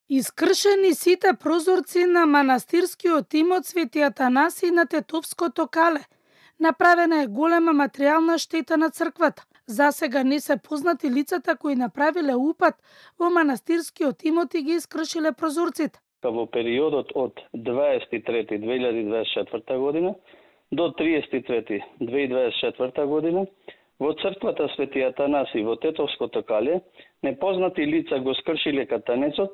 Искршени сите прозорци на манастирскиот имот Свети Атанаси на Тетовското кале. Направена е голема материјална штета на црквата. Засега не се познати лицата кои направиле упад во манастирскиот имот и ги искршиле прозорците. Во периодот од 23.2024 година до 30.3.2024 година во црквата Свети Атанаси во Тетовското кале непознати лица го скршиле катанецот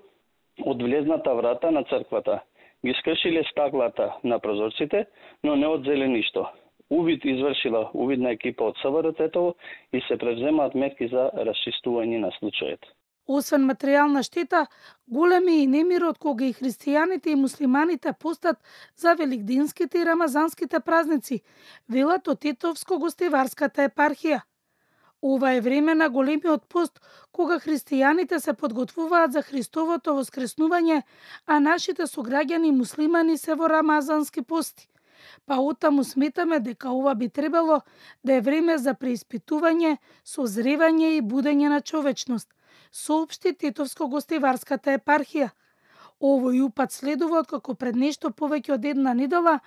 од влезната врата на црквата. Ги скршиле стаклата на прозорците, но не одзеле ништо. Увид извршила увидна екипа од СВР Тетово и се превземаат мерки за расчистување на случајот. Освен материјална штета, голем е и немирот кога и христијаните и муслиманите постат за великденските и рамазанските празници, велат од Тетовско-гостиварската епархија. Ова е време на големиот пост, кога христијаните се подготвуваат за Христовото воскреснување, а нашите сограѓани муслимани се во рамазански пости. Па оттаму сметаме дека ова би требало да е време за преиспитување, созревање и будење на човечност, соопшти Тетовско-гостиварската епархија. Овој упад следува откако пред нешто повеќе од една недела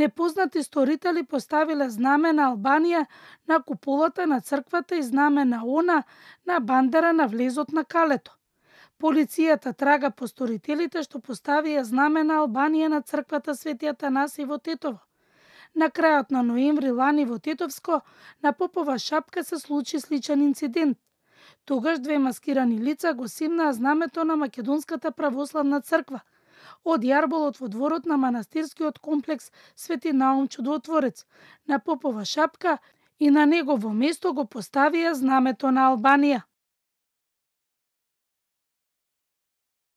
непознати сторители поставиле знаме на Албанија на куполата на црквата и знаме на ОНА на бандера на влезот на калето. Полицијата трага по сторителите што поставија знаме на Албанија на црквата Свети Атанаси во Тетово. На крајот на ноември лани во Тетовско на Попова шапка се случи сличен инцидент. Тогаш две маскирани лица го симнаа знамето на Македонската православна црква од јарболот во дворот на манастирскиот комплекс Свети Наум Чудотворец на Попова шапка и на негово место го поставија знамето на Албанија.